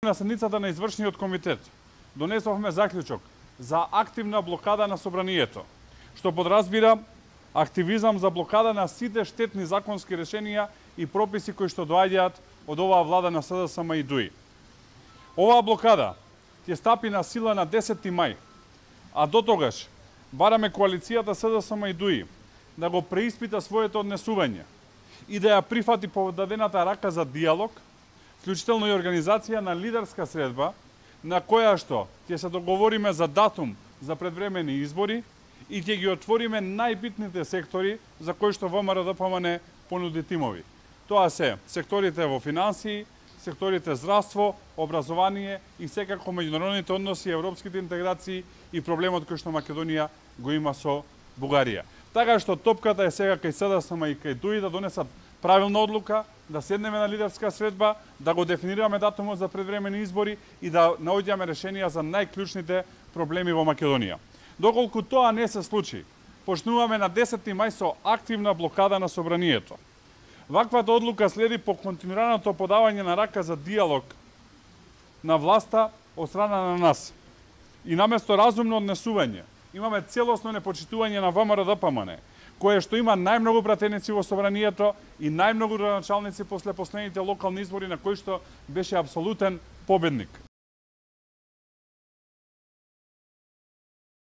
На седницата на извршниот комитет донесовме заклучок за активна блокада на собранието, што подразбира активизам за блокада на сите штетни законски решенија и прописи кои што доаѓаат од оваа влада на СДСМ и ДУИ. Оваа блокада ќе стапи на сила на 10 мај, а до тогаш бараме коалицијата СДСМ и ДУИ да го преиспита своето однесување и да ја прифати подадената рака за диалог, вклучително и организација на лидерска средба, на која што ќе се договориме за датум за предвремени избори и ќе ги отвориме најбитните сектори за кои што ВМРО-ДПМН понуди тимови. Тоа се секторите во финансии, секторите здравство, образование и секако меѓународните односи, европските интеграции и проблемот кој што Македонија го има со Бугарија. Така што топката е сега кај СДСМ и кај ДУИ да донесат правилна одлука, да седнеме на лидерска средба, да го дефинираме датумот за предвремени избори и да наоѓаме решенија за најклучните проблеми во Македонија. Доколку тоа не се случи, почнуваме на 10 мај со активна блокада на собранието. Ваквата одлука следи по континуираното подавање на рака за диалог на власта од страна на нас. И наместо разумно однесување, имаме целосно непочитување на ВМРО-ДПМН, кое што има најмногу пратеници во собранието и најмногу градоначалници после последните локални избори на кои што беше апсолутен победник.